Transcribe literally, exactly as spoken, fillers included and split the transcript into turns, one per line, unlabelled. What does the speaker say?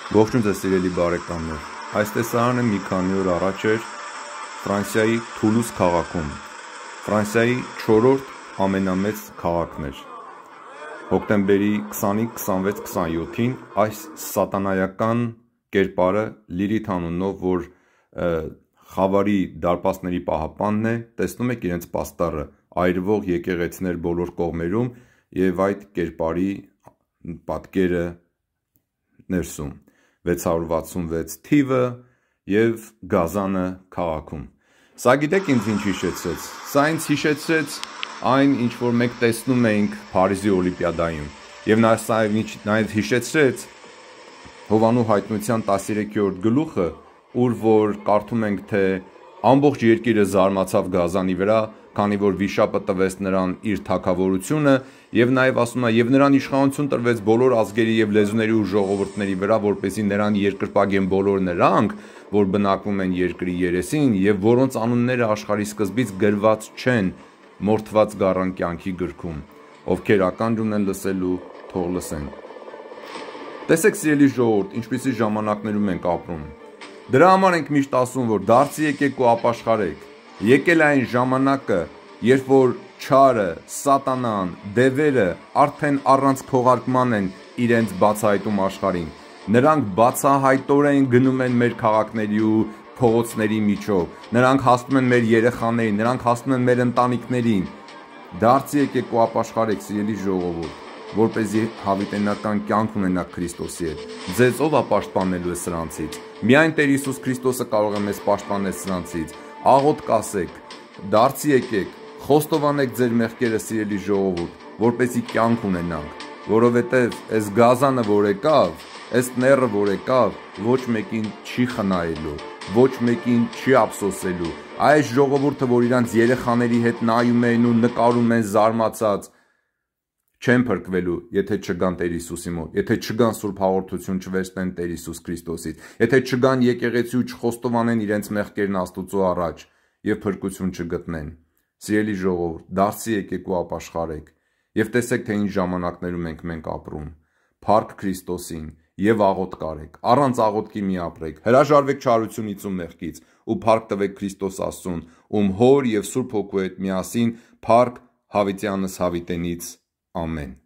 Ողջույն ձեզ սիրելի բարեկամներ, այս տեսարանը մի քանի օր առաջ էր Ֆրանսիայի Թուլուզ քաղաքում, Ֆրանսիայի չորրորդ ամենամեծ քաղաքն էր, հոկտեմբերի քսանինը, քսանվեց, քսանյոթին այս սատանայական կերպարը Լիլիթ անունով, որ խավարի դարպասների պահապանն է, տեսնում եք իրենց պաստառը, այրվող եկեղեցիներ բոլոր կողմերում և այդ կերպարի պատկերը ներսում, վեց հարյուր վաթսունվեց թիվը և գազանը քաղաքում։ Սա գիտեք ինձ ինչ հիշեցրեց, սա ինձ հիշեցրեց այն, ինչ որ մենք տեսնում էինք Փարիզի Օլիմպիադայում, և նաև հիշեցրեց Հովհաննու հայտնության տասներեքերորդ գլուխը, ուր որ կարդում ենք, թե ամբողջ երկիրը զարմացավ Գազանի վրա, քանի որ վիշապը տվեց նրան իր թագավորությունը, և նաև ասում է, և նրան իշխանություն տրվեց բոլոր ազգերի և լեզուների ու ժողովուրդների վրա, որպեսզի նրան երկրպագեն բոլոր նրանք, որ բնակվում են երկրի երեսին, և որոնց անունները աշխարհի սկզբից գրված չեն մորթված գառան կյանքի գրքում, ովքեր ականջ ունեն լսելու, թող լսեն։ Տեսեք սիրելի ժողովուրդ, ինչպիսի ժամանակներում ենք ապրում։ Դրա համար ենք միշտ ասում, որ դարձի եկեք ու ապաշխարեք։ Եկել է այն ժամանակը, երբ որ չարը, սատանան, դևերը արդեն առանց քողարկման են իրենց բացահայտում աշխարհին։ Նրանք բացահայտորեն գնում են մեր քաղաքների ու փողոցների միջով։ Նրանք հասնում են մեր երեխաներին, նրանք հասնում են մեր ընտանիքներին։ Դարձի եկեք ու ապաշխարեք, սիրելի ժողովուրդ, որպեսզի հավիտենական կյանք ունենաք Քրիստոսի հետ։ Ձեզ ով է պաշտպանելու է սրանցից։ Միայն Տեր Հիսուս Քրիստոսը կարող է մեզ պաշտպանել սրանցից։ Աղոթք ասեք, դարձի եկեք, խոստովանեք ձեր մեղքերը, սիրելի ժողովուրդ, որպեսզի կյանք ունենանք, որովհետև այս գազանը, որ եկավ, այս նեռը, որ եկավ, ոչ մեկին չի խնայելու, ոչ մեկին չի ափսոսելու։ Այս ժողովուրդը, որ իրանց երեխաների հետ նայում են ու նկարում են զարմացած, չեն փրկվելու, եթե չգան Տեր Հիսուսի մոտ, եթե չգան սուրբ հաղորդություն չվերցնեն Տեր Հիսուս Քրիստոսից, եթե չգան եկեղեցի ու չխոստովանեն իրենց մեղքերն Աստծո առաջ և փրկություն չգտնեն։ Սիրելի ժողովուրդ, դարձի եկեք ու ապաշխարեք և տեսեք, թե ինչ ժամանակներում ենք մենք ապրում։ Փառք Քրիստոսին և աղոթք արեք, առանց աղոթքի մի ապրեք, հրաժարվեք չարությունից ու մեղքից ու փառք տվեք Քրիստոս Աստծուն, ում Հոր և Սուրբ Հոգու հետ միասին փառք հավիտյանս հավիտենից, ամեն։